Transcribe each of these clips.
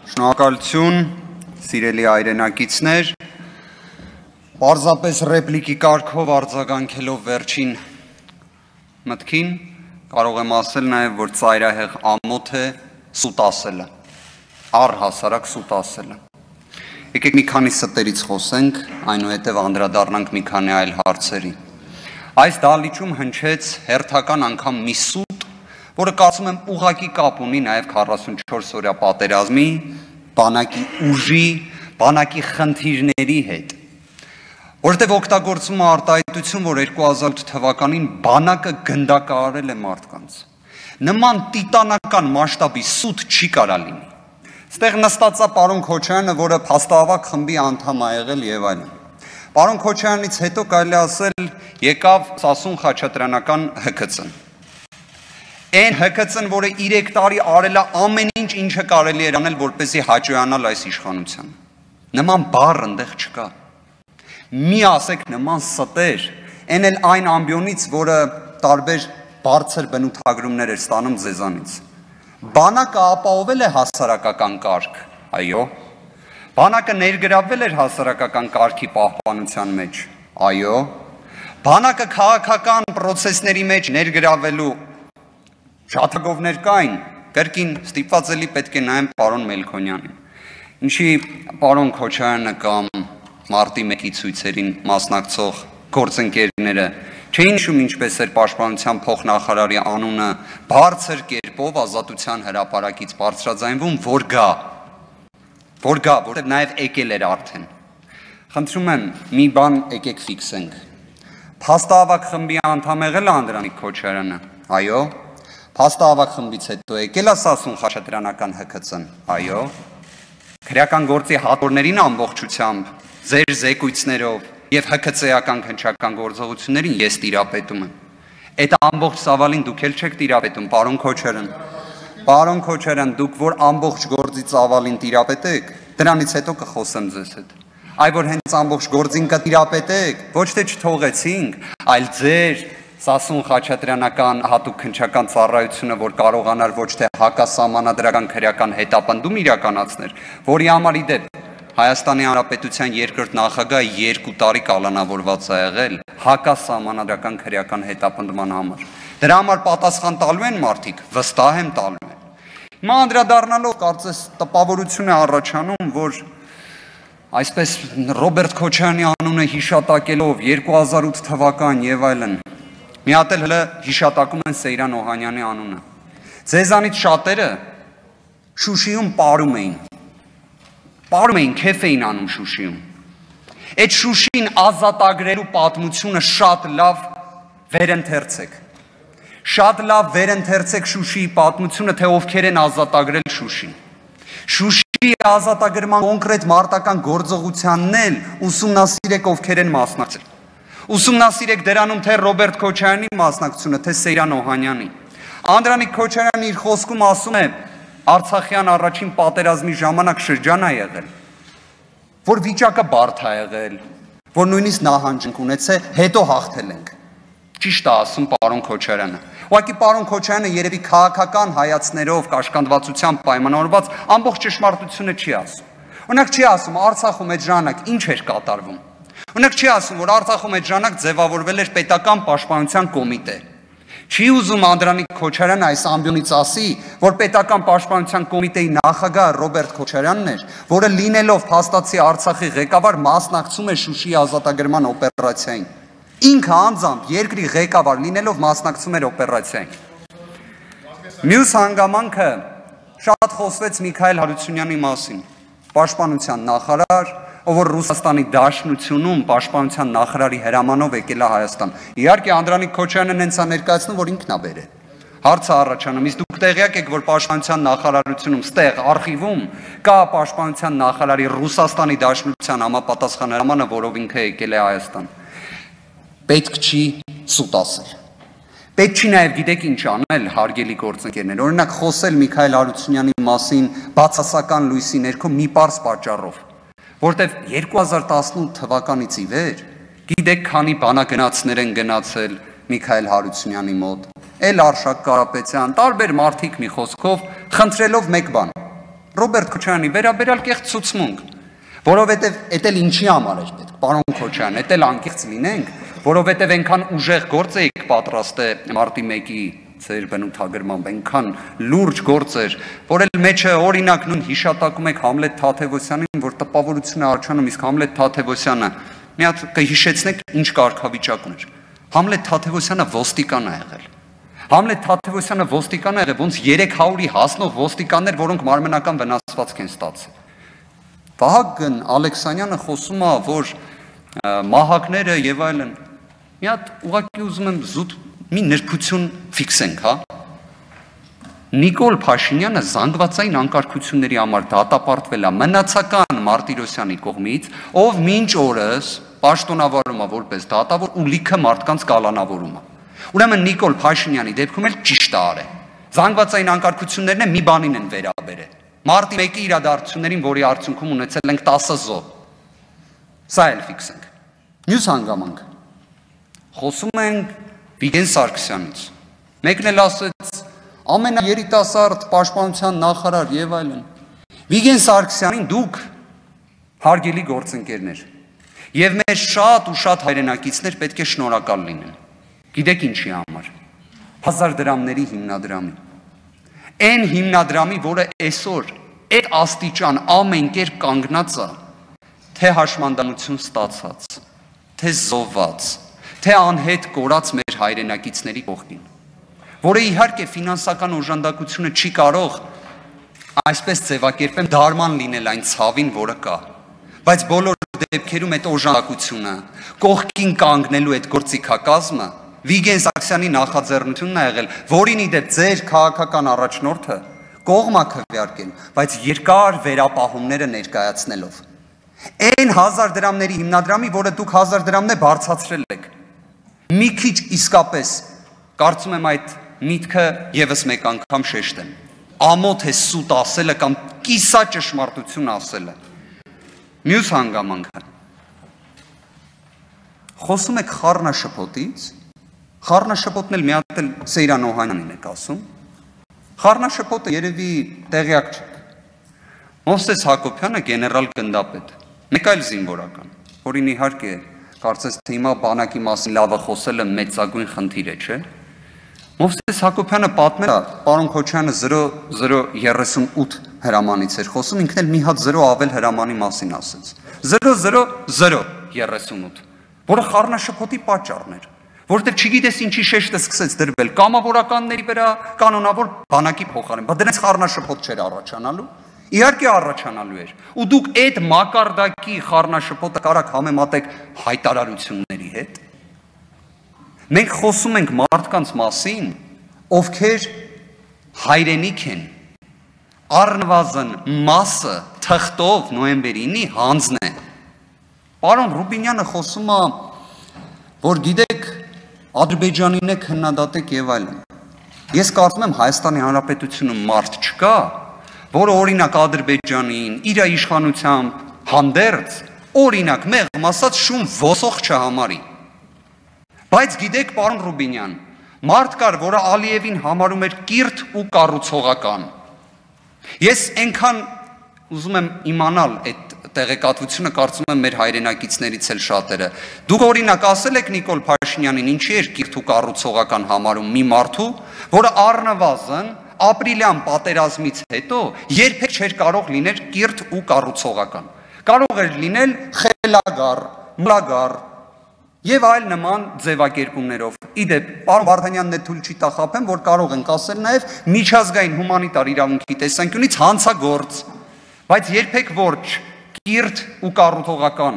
Շնորհակալություն, սիրելի հայրենակիցներ, պարզապես ռեպլիկի կարգով արձագանքելով վերջին մտքին, կարող եմ ասել նաև, որ ծայրահեղ ամոթ է սուտ ասելը, առհասարակ սուտ ասելը։ Եկեք մի քանի ստերից խոսենք, այնուհետև անդրադառնանք մի քանի այլ հարցերի։ Այս դահլիճում հնչեց հերթական անգամ մի սուտ, որը կարծում եմ ուղղակի կապ ունի նաև 44-օրյա պատերազմի, բանակի ուժի, բանակի խնդիրների հետ, որտեղ օգտագործում է արտահայտություն, որ 2008 թվականին բանակը գնդակահարել է մարդկանց։ Նման տիտանական մասշտաբի սուտ չի կարա լինի։ Ստեղ նստած է պարոն Քոչարյանը, որը փաստահավաք խմբի անդամ է եղել եւ այլն։ Պարոն Քոչարյանից հետո կարելի ասել եկավ Սասուն Խաչատրյանական ՀԿՑ-ն։ Այն ՀԿՑ-ն, որը 3 տարի արել է ամեն ինչ, ինչը կարելի էր անել, որպեսզի հաջողանալ այս իշխանության։ Նման բառ այնտեղ չկա։ Մի ասեք նման ստեր, այն էլ այն ամբիոնից, որը տարբեր բարձր բնութագրումներ էր ստանում ձեզանից։ Բանակը ապահովել է հասարակական կարգ, այո։ Բանակը ներգրավվել էր հասարակական կարգի պահպանության մեջ, այո։ Բանակը քաղաքական պրոցեսների մեջ ներգրավվելու շատագովներ կային, կրկին ստիպված էլի պետք է նայեմ պարոն Մելքոնյանին։ Ինչի պարոն Քոչարյանը կամ մարտի 1-ի ցույցերին մասնակցող գործընկերները չէին հիշում ինչպես էր պաշտպանության փոխնախարարի անունը բարձր կերպով ազատության հրապարակից բարձրաձայնվում, որտեղ նաև եկել էր արդեն։ Խնդրում եմ, մի բան եկեք ֆիքսենք։ Փաստահավաք խմբի անդամ եղել է Անդրանիկ Քոչարյանը, այո։ Փաստահավաք խմբից հետո եկել է Սասուն Խաչատրյանական ՀԿՑ-ն, այո։ Քրեական գործի հատորներին ամբողջությամբ ձեր զեկույցներով եւ ՀԿՑ-ական քննչական գործողություններին ես տիրապետում եմ։ Այդ ամբողջ սավալին դուք էլ չեք տիրապետում, պարոն Քոչարյան։ Պարոն Քոչարյան, դուք որ ամբողջ գործի ծավալին տիրապետեք, դրանից հետո կխոսեմ ձեզ հետ։ Այ որ հենց ամբողջ գործին կտիրապետեք, ոչ թե չթողեցինք, այլ ձեր Սասուն Խաչատրյանական հատուկ քննչական ծառայությունը, որ կարողանար ոչ թե հակասահմանադրական քրեական հետապնդում իրականացներ, որի համար իդեպ Հայաստանի Հանրապետության երկրորդ նախագահը 2 տարի կալանավորված է եղել հակասահմանադրական քրեական հետապնդման համար։ Դրա համար պատասխան տալու են մարդիկ, վստահ եմ տալու են։ Հիմա անդրադառնալով կարծես տպավորություն է առաջանում, որ այսպես Ռոբերտ Քոչարյանի անունը հիշատակելով 2008 թվական եւ այլն, մի հատ էլ հələ հիշատակում են Սեյրան Օհանյանի անունը։ Ձեզանից շատերը Շուշիում պարում էին, քեֆ էին անում Շուշիում։ Այդ Շուշին ազատագրելու պատմությունը շատ լավ վերընթերցեք։ Շատ լավ վերընթերցեք Շուշիի պատմությունը, թե ովքեր են ազատագրել Շուշին։ Շուշիի ազատագրման կոնկրետ մարտական գործողությանն էլ ուսումնասիրեք ովքեր են մասնակցել։ Ուսումնասիրեք դրանում թե Ռոբերտ Քոչարյանի մասնակցությունը, թե Սեյրան Օհանյանի։ Անդրանիկ Քոչարյանը իր խոսքում ասում է Արցախյան առաջին պատերազմի ժամանակ շրջան է եղել, որ վիճակը բարդ է եղել, որ նույնիսկ նահանջենք ունեցել, հետո հաղթել ենք։ Ճիշտ է ասում պարոն Քոչարյանը։ Ուղղակի պարոն Քոչարյանը երևի քաղաքական հայացքներով, կաշկանդվածությամբ պայմանավորված ամբողջ ճշմարտությունը չի ասում։ Օրինակ չի ասում Արցախում այդ ժամանակ ինչ էր կատարվում։ Օրինակ չի ասում, որ Արցախում այդ ժամանակ ձևավորվել էր պետական պաշտպանության կոմիտե։ Չի ուզում Անդրանիկ Քոչարյանը այս ամբիոնից ասի, որ պետական պաշտպանության կոմիտեի նախագահ Ռոբերտ Քոչարյանն էր, որը լինելով փաստացի Արցախի ղեկավար մասնակցում է Շուշիի ազատագրման օպերացիային։ Ինքը անձամբ երկրի ղեկավար լինելով մասնակցում էր օպերացիային։ Մյուս հանգամանքը շատ խոսվեց Միքայել Հարությունյանի մասին, պաշտպանության նախարար, ով որ Ռուսաստանի Դաշնությունում պաշտպանության նախարարի հրամանով եկել է Հայաստան։ Իհարկե Անդրանիկ Քոչարյանը նենց է ներկայացնում, որ ինքն է բերել։ Հարցը առաջանում, իսկ դուք տեղյակ եք, որ պաշտպանության նախարարությունում ստեղ արխիվում կա պաշտպանության նախարարի Ռուսաստանի Դաշնության համապատասխան հրամանը, որով ինքը եկել է Հայաստան։ Պետք չի սուտ ասել։ Պետք չի նաև գիտեք ինչ անել, հարգելի գործընկերներ, օրինակ խոսել Միքայել Հարությունյանի մասին բացասական լույսի ներքո մի պարզ պատճառով, որտեվ 2018 թվականից ի վեր գիտեք քանի բանագնացներ են գնացել Միքայել Հարությունյանի մոտ, էլ Արշակ Կարապետյան, տարբեր մարդիկ մի խոսքով խնդրելով մեկ բան, Ռոբերտ Քոչարյանի վերաբերյալ կեղծ ցուցմունք, որովհետև էդ էլ ինչի համար էր պետք, պարոն Քոչարյան, էդ էլ անկեղծ լինենք, որովհետև այնքան ուժեղ գործ էիք պատրաստ մարտի 1-ի ձեր բնութագրմամբ, այնքան լուրջ գործ էր, որ էլ մեջը օրինակ նույն հիշատակում եք Համլետ Թադևոսյանին, որ տպավորություն է առաջանում, իսկ Համլետ Թադևոսյանը մի հատ կհիշեցնեք ինչ կարգավիճակ ուներ։ Համլետ Թադևոսյանը ոստիկան է եղել։ Համլետ Թադևոսյանը ոստիկան է եղել, ոնց 300-ի հասնող ոստիկաններ, որոնք մարմնական վնասվածք են ստացել։ Վահագն Ալեքսանյանը խոսում է, որ մահակները եւ այլն։ Մի հատ ուղղակի ուզում եմ զուտ մի նրբություն ֆիքսենք, հա։ Նիկոլ Փաշինյանը զանգվածային անկարգությունների համար դատապարտվել է մնացական Մարտիրոսյանի կողմից, ով մինչ օրս պաշտոնավարում է որպես դատավոր ու լիքը մարդկանց կալանավորում է։ Ուրեմն Նիկոլ Փաշինյանի դեպքում էլ ճիշտ է արել։ Զանգվածային անկարգություններն է մի բանին են վերաբերել։ Մարտի 1-ի իրադարձություններին, որի արդյունքում ունեցել ենք 10 զոհ։ Սա էլ ֆիքսենք։ Մյուս հանգամանք։ Խոսում ենք Վիգեն Սարգսյանից։ Մեկն էլ ասեց ամենաերիտասարդ պաշտպանության նախարար եւ այլն։ Վիգեն Սարգսյանին դուք հարգելի գործընկերներ եւ մեր շատ ու շատ հայրենակիցներ պետք է շնորհակալ լինեն։ Գիտեք ինչի համար։ 1000 դրամների հիմնադրամի։ Այն հիմնադրամի, որը այսօր այդ աստիճան ամեն կերպ կանգնած է, թե հաշմանդամություն ստացած, թե զոհված, թե անհետ կորած մեր հայրենակիցների կողքին, որը իհարկե ֆինանսական օժանդակությունը չի կարող այսպես ձևակերպեմ դարման լինել այն ցավին, որը կա, բայց բոլոր դեպքերում այդ օժանդակությունը, կողքին կանգնելու այդ գործիքակազմը Վիգեն Սարգսյանի նախաձեռնությունն է եղել, որին ի դեպ ձեր քաղաքական առաջնորդը կողմ է քվեարկել, բայց երկար վերապահումները ներկայացնելով։ Այն 1000 դրամների հիմնադրամի, որը դուք 1000 դրամն է բարձրացրել եք։ Մի քիչ իսկապես կարծում եմ այդ միտքը եւս մեկ անգամ շեշտեմ։ Ամոթ է սուտ ասելը կամ կիսա ճշմարտություն ասելը։ Մյուս հանգամանքը։ Խոսում եք խառնաշփոթից, խառնաշփոթն էլ մի հատ էլ Սեյրան Օհանյանին եք ասում։ Խառնաշփոթը երևի տեղյակ չեք։ Մովսես Հակոբյանը գեներալ գնդապետ, մեկ այլ զինվորական, որին իհարկե կարծես թե հիմա բանակի մասին լավը խոսելը մեծագույն խնդիր է, չէ՞։ Մովսես Հակոբյանը պատմել է, պարոն Քոչյանը 0038 հրամանից էր խոսում, ինքն էլ մի հատ 0 ավել հրամանի մասին ասեց։ 00038, որը խառնաշփոթի պատճառն էր, որովհետև չգիտես ինչի շեշտը սկսեց դրվել կամավորականների վրա, կանոնավոր բանակի փոխարեն, բայց դրանց խառնաշփոթ չէր առաջանալու։ Իհարկե առաջանալու էր, ու դուք այդ մակարդակի խառնաշփոթը կարաք համեմատեք հայտարարությունների հետ։ Մենք խոսում ենք մարդկանց մասին, ովքեր հայրենիք են, առնվազն մասը թղթով նոյեմբերի 9-ի հանձն է։ Պարոն Ռուբինյանը խոսում է, որ գիտեք, Ադրբեջանին եք քննադատեք եւ այլն։ Ես կարծում եմ Հայաստանի Հանրապետությունում մարդ չկա, որը օրինակ Ադրբեջանին իր իշխանությամբ հանդերձ, օրինակ մեղմ ասած շուն ոսող չհամարի։ Բայց գիտեք, պարոն Ռուբինյան, մարդ կար, որը Ալիևին համարում էր կիրթ ու կառուցողական։ Ես այնքան ուզում եմ իմանալ այդ տեղեկատվությունը, կարծում եմ մեր հայրենակիցներից էլ շատերը։ Դուք օրինակ ասել եք Նիկոլ Փաշինյանին ինչի էր կիրթ ու կառուցողական համարում մի մարդու, որը առնվազն ապրիլյան պատերազմից հետո երբեք չէր կարող լինել կիրթ ու կառուցողական։ Կարող էր լինել խելագար, մլագար եւ այլ նման ձևակերպումներով։ Իդեպ, պարոն Վարդանյանն է թույլ չի տա խաբեմ, որ կարող ենք ասել նաեւ միջազգային հումանիտար իրավունքի տեսանկյունից հանցագործ, բայց երբեք ոչ կիրթ ու կառուցողական։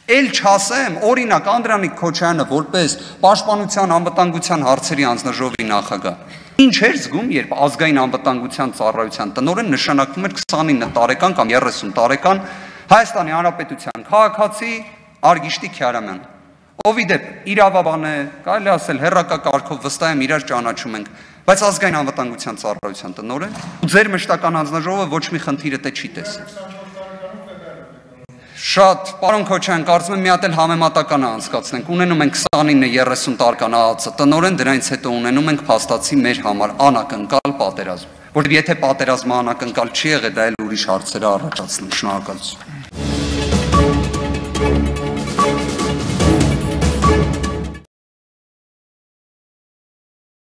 Էլ չասեմ, օրինակ Անդրանիկ Քոչարյանը որպես պաշտպանության անվտանգության հարցերի հանձնաժողովի նախագահ, ինչ էր զգում, երբ ազգային անվտանգության ծառայության տնօրեն նշանակվում էր 29 տարեկան կամ 30 տարեկան Հայաստանի Հանրապետության քաղաքացի Արգիշտի Քյարամյան, ով իդեպ իրավաբան է, կարելի ասել հերրակակարգով վստահ եմ իրար ճանաչում ենք, բայց ազգային անվտանգության ծառայության տնօրեն, ու ձեր մշտական հանձնաժողովը ոչ մի խնդիր դե չի տեսել։ Շատ, պարոն Քոչարյան, կարծում եմ մի հատ էլ համեմատական անցկացնենք, ունենում ենք 29-30 տարեկան ԱԱՑ տնօրեն, դրանից հետո ունենում ենք փաստացի մեր համար անակնկալ պատերազմ, Որտեղ եթե պատերազմը անակնկալ չի եղել, դա էլ ուրիշ հարցեր է առաջացնում։ Շնորհակալություն։